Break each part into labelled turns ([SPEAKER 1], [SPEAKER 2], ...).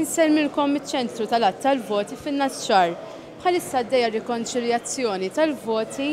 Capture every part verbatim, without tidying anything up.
[SPEAKER 1] Insellmilkom miċ-ċentru tal-għadd tal-voti fin-Naxxar. Bħalissa għaddejja rikonċiljazzjoni tal-voti.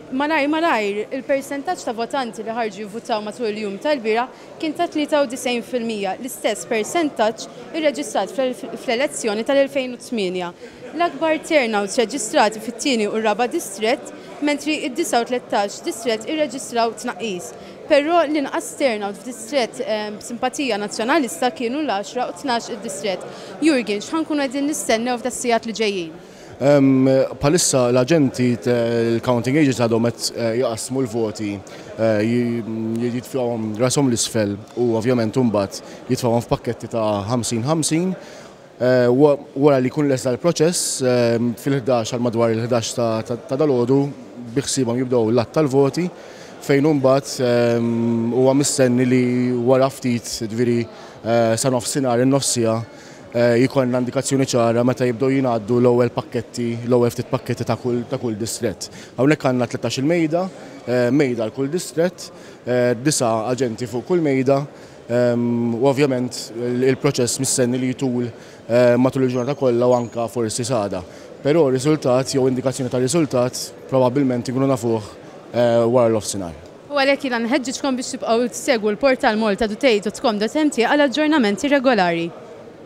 [SPEAKER 1] Malajr malajr, il-persentaġġ ta' votanti li ħarġu jivvutaw matul il-jum tal-bieraħ kien ta' tlieta u disgħin fil-mija, l-istess persentaġġ irreġistrat fl-elezzjoni tal-elfejn u tmienja. L-akbar turnouts reġistrati fit-tieni u r-raba' distrett, mentri id-disa' u tlettax distrett irreġistraw tnaqqis. Però l-inqas turnout f'distrett eh, b'simpatija nazzjonalista kienu l-għaxra u tnax id-distrett. Jurgen, x'ħa nkunu qegħdin nistennew f'das-sigħat li ġejjin?
[SPEAKER 2] Bħalissa l-aġenti, il-counting agents, għadhom qed eh, jaqsmu l-voti, eh, jitfgħuhom rashom 'l isfel u ovvjament imbagħad jitfgħuhom f'pakketti ta' ħamsin ħamsin. Eh, wara li jkun lesta l-proċess fil-ħdax, għal madwar il-ħdax ta' dalgħodu, biħsiebhom jibdew l-għadd tal-voti, fejn imbagħad huwa mistenni li wara ftit, ġifieri sa nofsinhar, in-nofs siegħa, jkollna indikazzjoni ċara meta jibdew jingħaddu l-ewwel pakketti, l-ewwel ftit pakketti ta' kull ta' kull distrett. Hawnhekk għandna tlettax-il mejda, mejda għal kull distrett, disa' aġenti fuq kull mejda, u ovvjament il-proċess mistenni li jtul matul il-ġurnata kollha u anka forsi s'għada. Però riżultat jew indikazzjoni ta' riżultat probabbilment ikunu nafuh wara l-nofsinhar.
[SPEAKER 1] U għalhekk jiena nħeġġiġkom biex tibqgħu tsegwu l-portal maltatoday punt com punt M T għal aġġornamenti regolari.